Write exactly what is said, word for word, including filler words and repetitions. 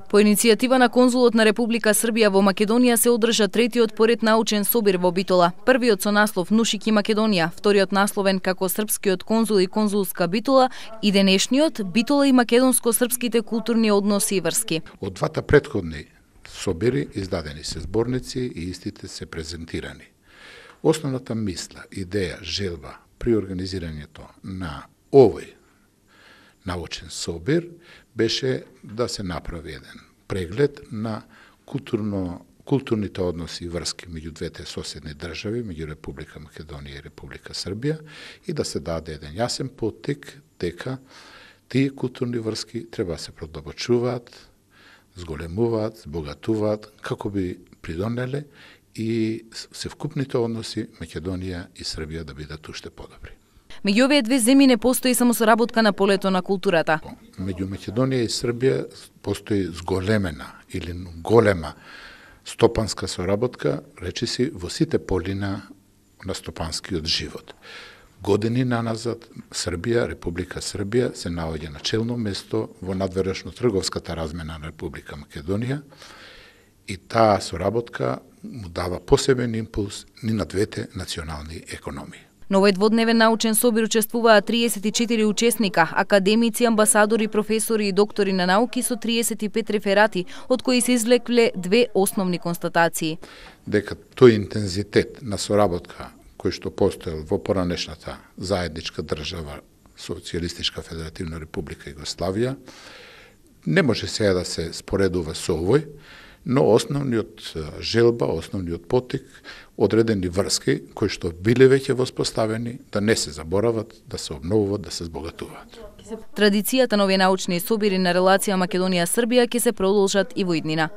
По иницијатива на конзулот на Република Србија во Македонија се одржа третиот поред научен собир во Битола. Првиот со наслов Нушик и Македонија, вториот насловен како Српскиот конзул и конзулска Битола и денешниот Битола и македонско-српските културни односи и врски. Од двата претходни собири издадени се зборници и истите се презентирани. Основната мисла, идеја, желба при организирањето на овој научен собир беше да се направи еден преглед на културно, културните односи и врски меѓу двете соседни држави, меѓу Република Македонија и Република Србија, и да се даде еден јасен поттик дека тие културни врски треба да се продолбочуваат, зголемуваат, збогатуваат, како би придонеле и севкупните односи Македонија и Србија да бидат уште подобри. Меѓу овие две земји не постои само соработка на полето на културата. Меѓу Македонија и Србија постои зголемена или голема стопанска соработка, речиси во сите полина на стопанскиот живот. Години наназад Србија, Република Србија се наоѓа на челно место во надворешно трговската размена на Република Македонија и таа соработка му дава посебен импулс ни на двете национални економии. На овој дводневен научен собир учествуваат триесет и четири учесника, академици, амбасадори, професори и доктори на науки со триесет и пет реферати, од кои се извлекле две основни констатации. Дека тој интензитет на соработка кој што постоел во поранешната заедничка држава Социјалистичка Федеративна Република Југославија не може сега да се споредува со овој, но основниот желба, основниот поттик, одредени врски кои што биле веќе воспоставени, да не се заборават, да се обновуваат, да се збогатуваат. Традицијата на овие научни собири на релација Македонија-Србија ќе се продолжат и во иднина.